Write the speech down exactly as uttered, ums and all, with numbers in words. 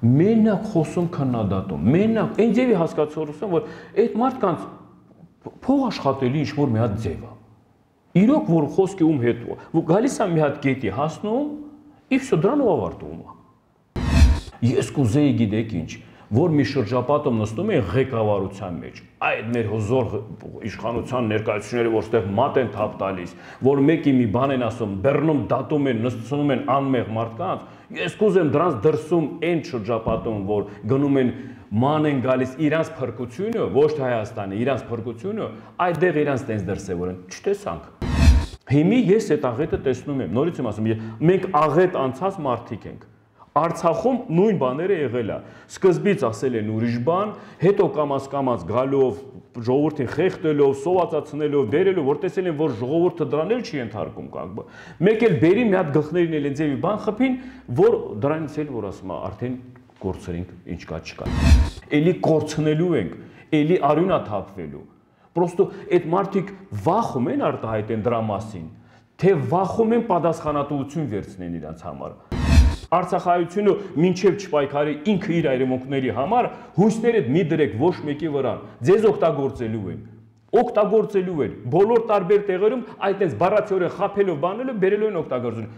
Մենակ խոսում քննադատում, մենակ այն ձևի հասկացողություն, որ այդ մարդկանց փող աշխատելի ինչ-որ մի հատ ձև է։ Իրոք որ խոսքի ում հետ գալիս է մի հատ կետի հասնում, ի վсё դրանով ավարտվում է։ Ես կուզեի գիտեք ինչ, որ մի շրջապատում նստում են ղեկավարության մեջ, այդ մեր հզոր իշխանության ներկայացուցիչները, որ ստեղ մատ են թափ տալիս, որ մեկի մի բան են ասում, բեռնում դատում են, նստում են անմեղ մարդկանց, ես կուզեմ դրանց դրսում այն շրջապատում, որ գնում են ման են գալիս իրանց փրկությունը, ոչ թե Հայաստանի, իրանց փրկությունը, այդտեղ իրանց տենց դրսևոր են, չտեսանք։ Հիմի ես այդ աղետը տեսնում եմ, նորից եմ ասում, մենք աղետ անցած մարդիկ ենք։ Արցախում նույն բաները եղել է։ Սկզբից ասել են ուրիշ բան, հետո կամաց-կամաց գալով, ժողովրդին խեղդելով, սովածացնելով, բերելով, որ տեսել են, որ ժողովուրդը դրան էլ չի ենթարկում կանգ։ Մեկ էլ բերի մի հատ գլխներին էլ ձևի բան խփին, որ դրանից էլ որ ասում է, արդեն կորցրինք, ինչ կա չկա։ Էլի կորցնելու ենք, էլի արյունա թափվելու։ Պրոստո այդ մարդիկ վախում են արտահայտեն դրա մասին, թե վախում են պատասխանատվություն վերցնեն իրենց համար։ Արցախայությունը մինչև չպայքարի ինքը իր այրեմունքների համար հույսներդ մի դրեք ոչ մեկի վրա, ձեզ օգտագործելու են, օգտագործելու են, բոլոր տարբեր տեղերում այդպես բառացիորեն խափելով բանելով բերելու են օգտագործելու։